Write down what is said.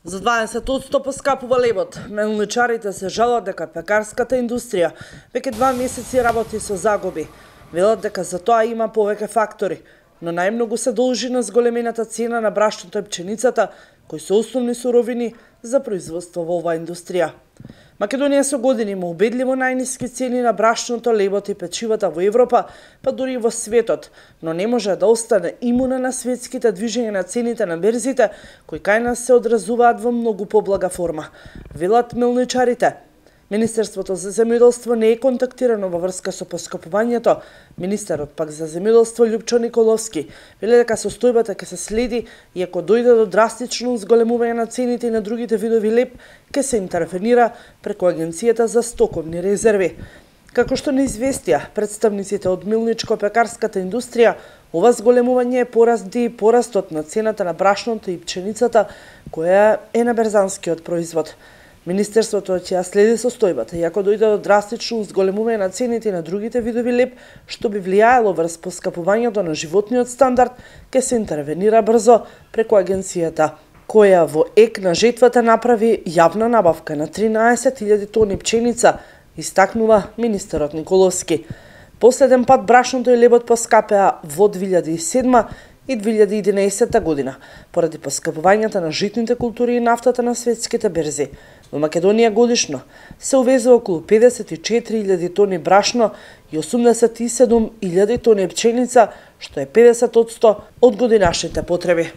За 20% поскапува лебот. Мелничарите се жалат дека пекарската индустрија веќе 2 месеци работи со загуби. Велат дека за тоа има повеќе фактори, но најмногу се должи на зголемената цена на брашното и пченицата, кои се основни суровини за производство во оваа индустрија. Македонија со години има убедливо најниски цени на брашното, лебот и печивата во Европа, па дури и во светот, но не може да остане имуна на светските движења на цените на берзите, кои кај нас се одразуваат во многу поблага форма. Велат мелничарите. Министерството за земјоделство не е контактирано во врска со поскапувањето. Министерот пак за земјоделство Љупчо Николовски вели дека состојбата ќе се следи и ако дојде до драстично зголемување на цените и на другите видови леб, ќе се интервенира преку Агенцијата за стоковни резерви. Како што не известија представниците од милничко-пекарската индустрија, ова зголемување е поради порастот на цената на брашното и пченицата, која е на берзанскиот производ. Министерството ќе ја следи состојбата и ако дојде до драстично зголемување на цените на другите видови леб, што би влијаело врз поскапувањето на животниот стандард, ќе се интервенира брзо преку агенцијата, која во ек на жетвата направи јавна набавка на 13.000 тони пченица, истакнува министерот Николовски. Последен пат брашното и лебот поскапеа во 2007 и 2011 година, поради поскапувањата на житните култури и нафтата на светските берзи. Во Македонија годишно се увезува околу 54.000 тони брашно и 87.000 тони пченица, што е 50% од годинашните потреби.